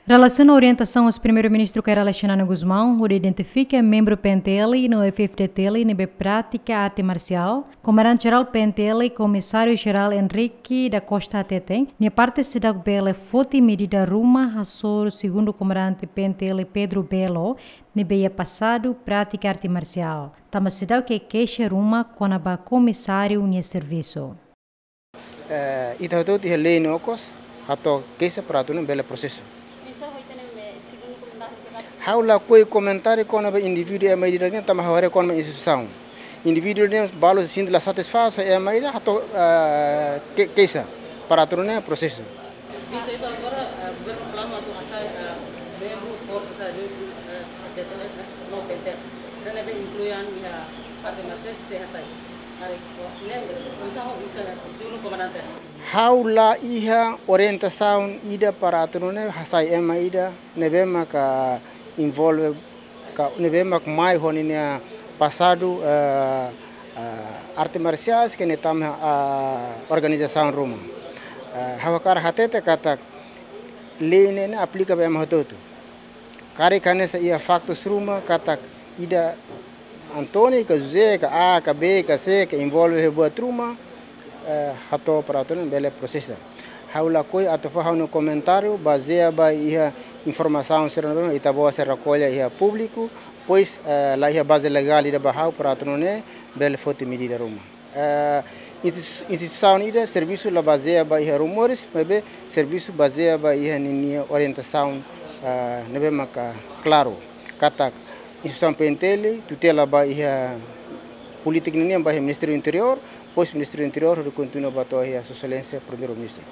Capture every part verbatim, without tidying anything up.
Relasiona orientasaun husi Primeiru-Ministru Kay Rala Xanana Gusmão hodi identifika membru P N T L no F F D T L ne'ebé pratika arte marsiál, Komandante Jerál P N T L, Komisáriu Jerál Henrique da Costa hateten, nia parte seidauk bele foti medida ruma hasoru Segundu Komandante P N T L Pedro Belo, ne'ebé iha pasadu pratika arte marsiál. Tanba seidauk iha keixa ruma kona-ba komisáriu nia servisu. Eh, ita hotu iha lei no okos, hato'o keixa para atu nune'e bele prosesu. Ha'u lakohi komentáriu kona-ba indivíduu ema ida nian, tanba ha'u haree kona-ba instituisaun. Indivíduu nian balu sente la satisfás ho ema ida, hato'o, eh, ke-, keixa para atu nune'e prosesu. Entaun, entaun agora, eh, governu reklama atu hasai, eh, membru forsa sai, eh, P N T L, eh, no P N T L. Sira ne'ebé inklui an iha arte marsiál sei hasai. Haree, oh, ne'e, oinsá ho, eh, Segundu Komandante? Ha'u la iha orientasaun ida para atu nune'e hasai ema ida ne'ebé maka envolve ka ne'ebé mak mai ho ninia pasadu, eh, eh, arte marsiais ka nia tama, eh, organizasaun ruma. Eh, ha'u hakarak hatete katak lei ne'e ne'e aplika ba ema hotu-hotu. Karik hanesan iha faktus ruma katak ida António ka José ka A ka B ka C ka envolve iha buat ruma, eh, hato'o para atu nune'e bele prosesa. Ha'u lakohi atu fó ha'u-nia komentáriu bazeia ba iha informasaun sira ne'ebé ita-boot sei rekolla iha públiku, pois, eh, la iha baze legál ida ba ha'u para atu nune'e bele foti medida ruma. Eh, insti-, instituisaun ida servisu la bazeia ba iha rumores, maibé servisu bazeia ba iha ninia orientasaun, eh, ne'ebé maka klaru. Katak instituisaun P N T L tutela ba iha polítika ninian ba iha Ministériu Interiór, pois Ministériu Interiór hodi kontinua ba to'o iha Sua Exelénsia Primeiru-Ministru.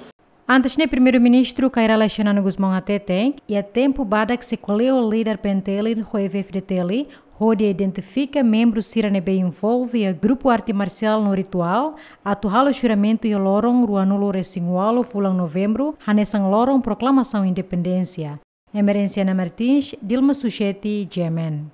Antes ne'e Primeiru-Ministru Kay Rala Xanana Gusmão hateten, iha tempu badak sei ko'alia ho líder P N T L ho F F D T L, hodi identifika membru sira ne'ebé envolve iha grupu arte marsiál no rituál, atu halo juramentu iha loron ruanulu-resin-ualu fulan Novembru, hanesan loron proklamasaun independénsia. Emerenciana Martins, Dilma Sucheti, G M N.